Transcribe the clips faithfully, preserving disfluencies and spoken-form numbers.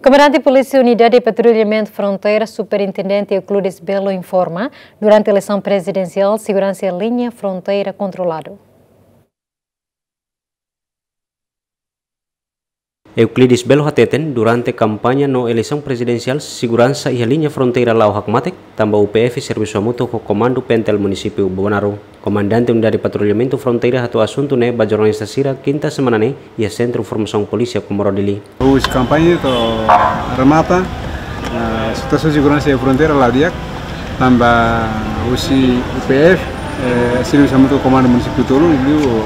Komandante Polísia Unidade Patrullamentu Fronteira, Superintendente Euclides Belo informa, durante eleisaun prezidensiál, seguransa iha liña fronteira kontroladu. Euclides Belo hateten, durante kampaña no eleisaun prezidensiál, seguransa iha liña fronteira la'o hakmatek, tanba U P F servisu hamutuk ho Komandu P N T L Munisípiu Bobonaro. Komandante Unidade Patrullamentu Fronteira hato'o asuntu ne'e ba jornalista sira kinta semana ne'e iha Sentru Formasaun Polísia Comoro Dili. Husi kampaña to'o remata, eh, situasaun seguransa iha fronteira la'o di'ak, tanba husi U P F, eh, servisu hamutuk ho Komandu Munisípiu tolu, liuliu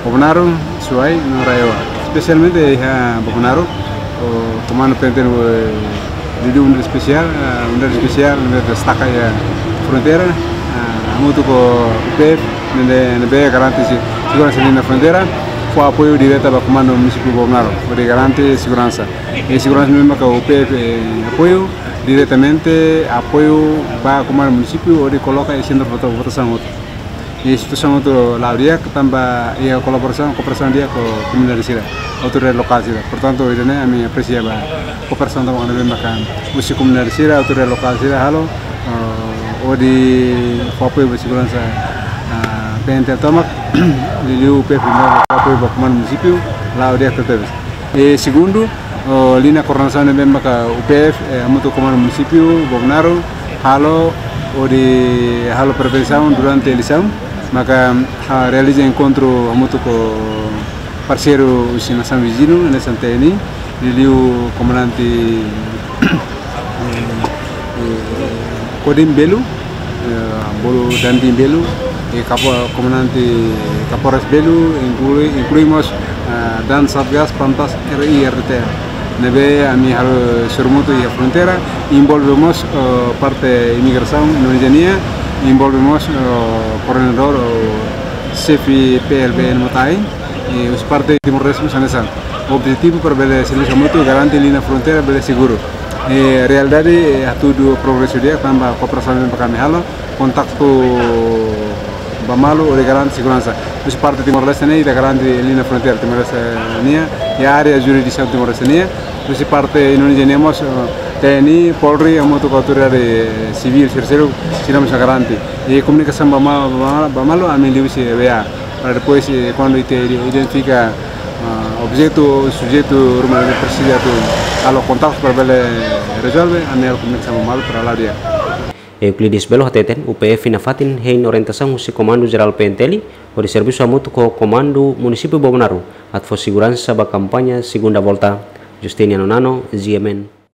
Bobonaro, Suai, no RAEOA. Espesialmente iha Bobonaro, o Komandu P N T L, eh, liuliu Unidade Espesiál, eh, Unidade Espesiál, Unidade Destaka iha fronteira, eh, hamutuk ho U P F, ne'ebé, ne'ebé garante se-, seguransa liña fronteira, fó apoiu direta ba Komandu Munisípiu Bobonaro, hodi garante seguransa. I seguransa ne'ebé maka U P F, eh, apoiu, diretamente apoiu ba Komandu Munisípiu hodi koloka iha sentru vota-, votasaun hotu. I situasaun hotu la'o di'ak tanba iha kolaborasaun, kooperasaun di'ak ho komunidade sira, autoridade lokál sira. Portantu, ida-ne'e ami apresia ba kooperasaun tomak ne'ebé maka husi komunidade sira, autoridade lokál sira halo, eh, hodi fó apoiu ba seguransa, ah, P N T L tomak, liuliu U P F fó apoiu ba Komandu Munisípiu, la'o di'ak tebes. I segundu, o, liña koordenasaun ne'ebé maka U P F, eh, hamutuk ho Komandu Munisípiu Bobonaro halo, hodi halo prevensaun durante eleisaun, maka, ah, realiza enkontru hamutuk ho parseiru husi nasaun viziñu, hanesan T N I, liuliu komandante eh, eh, Kodim Belo, eh, bolu Dandim Belo, i kapo-, komandante Kaporas Belo, inklui, inklui mós, eh, dan Satgas, Pantas, R I, R T L. Ne'ebé ami halo sorumutu iha fronteira, envolve mós, eh, parte imigrasaun Indonézia nian, envolve mós, eh, koordenadór, eh, xefe P L B N Motain, i husi parte Timor-Leste mós hanesan. Objetivu para bele servisu hamutuk garante liña fronteira bele seguru. I realidade, eh, hatudu progresu di'ak tanba kooperasaun ne'ebé ami halo, kontaktu ba malu hodi garante seguransa. Husi parte Timor-Leste ne'e ita garante liña fronteira Timor-Leste nian, i área jurisdisaun Timor-Leste nian. Husi parte Indonézia nian mós, eh, T N I, Polri, hamutuk ho autoridade sivíl, sira seluk, sira mós garante. I komunikasaun ba ma-, ba ma-, ba malu ami liuhusi W A. Para depois, eh, kuandu ita ide-, identifika, ah, objetu, sujeitu ruma ne'ebé presiza atu halo kontaktu para bele rezolve, ami halo komunikasaun ba malu para la'o di'ak. Euclides Belo hateten, U P F nafatin hein orientasaun husi Komandu Jerál P N T L, hodi servisu hamutuk ho Komandu Munisípiu Bobonaro, atu fó seguransa ba kampaña segunda volta. Justiniano Nano, G M N.